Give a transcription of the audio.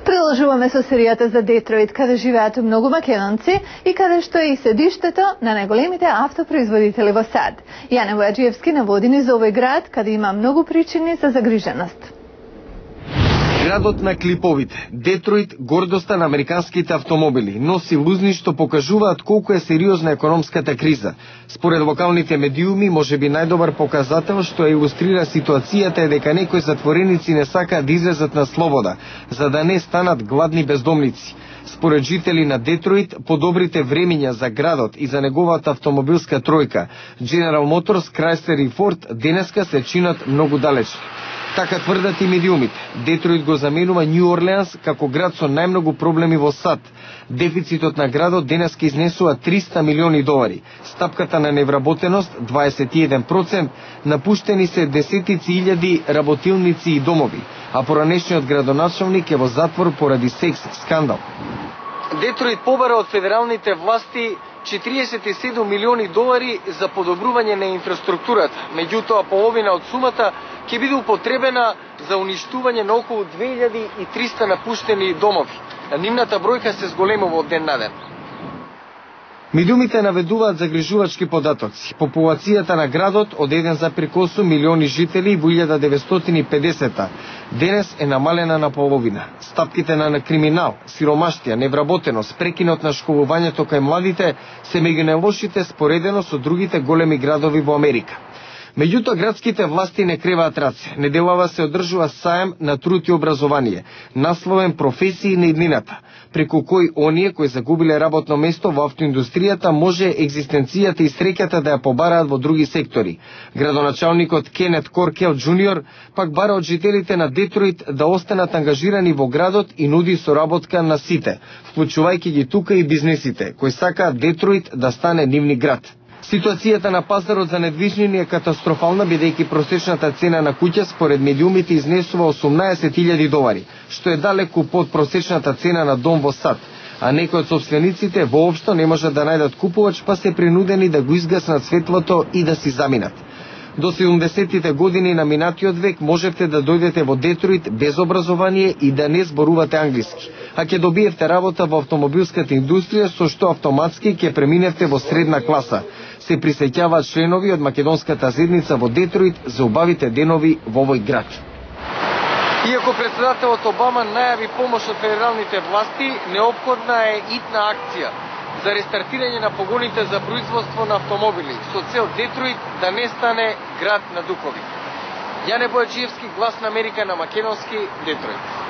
Продолжуваме со серијата за Детройт, каде живеат многу македонци и каде што е и седиштето на најголемите автопроизводители во САД. Јане Војаджиевски наводи ни за овој град, каде има многу причини за загриженост. Градот на клиповите, Детройт, гордоста на американските автомобили, носи лузни што покажуваат колку е сериозна економската криза. Според локалните медиуми, можеби најдобар показател што илустрира ситуацијата е дека некои затвореници не сакаат да излезат на слобода, за да не станат гладни бездомници. Според жители на Детройт, подобрите времиња за градот и за неговата автомобилска тројка, General Motors, Chrysler и Ford, денеска се чинат многу далечни. Така тврдат и медиумите. Детройт го заменува Њу Орлеанс како град со најмногу проблеми во САД. Дефицитот на градот денеска изнесува $300 милиони. Стапката на невработеност 21%, напуштени се десетици илјади работилници и домови, а поранешниот градоначалник е во затвор поради секс скандал. Детройт побара од федералните власти $47 милиони за подобрување на инфраструктурата. Меѓутоа, половина од сумата ќе биде употребена за уништување на околу 2300 напуштени домови. Нивната бројка се зголемува од ден на ден. Медиумите наведуваат загрижувачки податоци. Популацијата на градот од 1,8 милиони жители во 1950 денес е намалена на половина. Стапките на криминал, сиромаштија, невработеност, прекинот на школувањето кај младите се меѓу најлошите споредено со другите големи градови во Америка. Меѓутоа, градските власти не креваат раце. Неделава се одржува сајам на труд и образование, насловен професии на иднината, преку кој оние кои загубиле работно место во автоиндустријата може екзистенцијата и среќата да ја побараат во други сектори. Градоначалникот Кенет Коркел Джуниор пак бара од жителите на Детройт да останат ангажирани во градот и нуди соработка на сите, вклучувајќи ги тука и бизнесите, кои сакаат Детройт да стане нивни град. Ситуацијата на пазарот за недвижнини е катастрофална, бидејќи просечната цена на куќа според медиумите изнесува $18,000, што е далеку под просечната цена на дом во САД, а некои од собствениците воопшто не можат да најдат купувач, па се принудени да го изгаснат светлото и да си заминат. До 70-тите години на минатиот век можевте да дојдете во Детройт без образование и да не зборувате англиски, а ќе добиевте работа во автомобилската индустрија, со што автоматски ќе преминевте во средна класа. Се присеќаваат членови од македонската заедница во Детройт за убавите денови во овој град. Иако председателот Обама најави помош од федералните власти, неопходна е итна акција за рестартирање на погоните за производство на автомобили, со цел Детройт да не стане град на духови. Јане Војаджиевски, Глас на Америка, на македонски, Детройт.